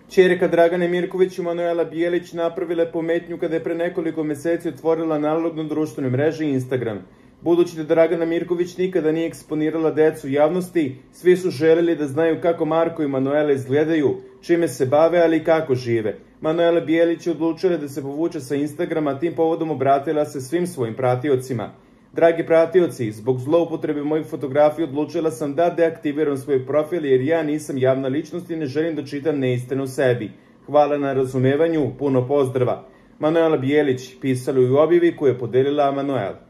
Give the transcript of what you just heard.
Ćerka Dragane Mirković i Manuela Bijelić napravile pometnju kada je pre nekoliko meseci otvorila analognu društvenu mrežu Instagram. Budući da Dragana Mirković nikada nije eksponirala decu javnosti, svi su želeli da znaju kako Marko i Manuela izgledaju, čime se bave, ali i kako žive. Manuela Bijelić je odlučila da se povuče sa Instagrama, tim povodom obratila se svim svojim pratiocima. Dragi pratioci, zbog zloupotrebe mojih fotografija odlučila sam da deaktiviram svoj profil jer ja nisam javna ličnost i ne želim da čitam neistinu o sebi. Hvala na razumevanju, puno pozdrava. Manuela Bijelić, pisala u objavi koju je podelila Manuela.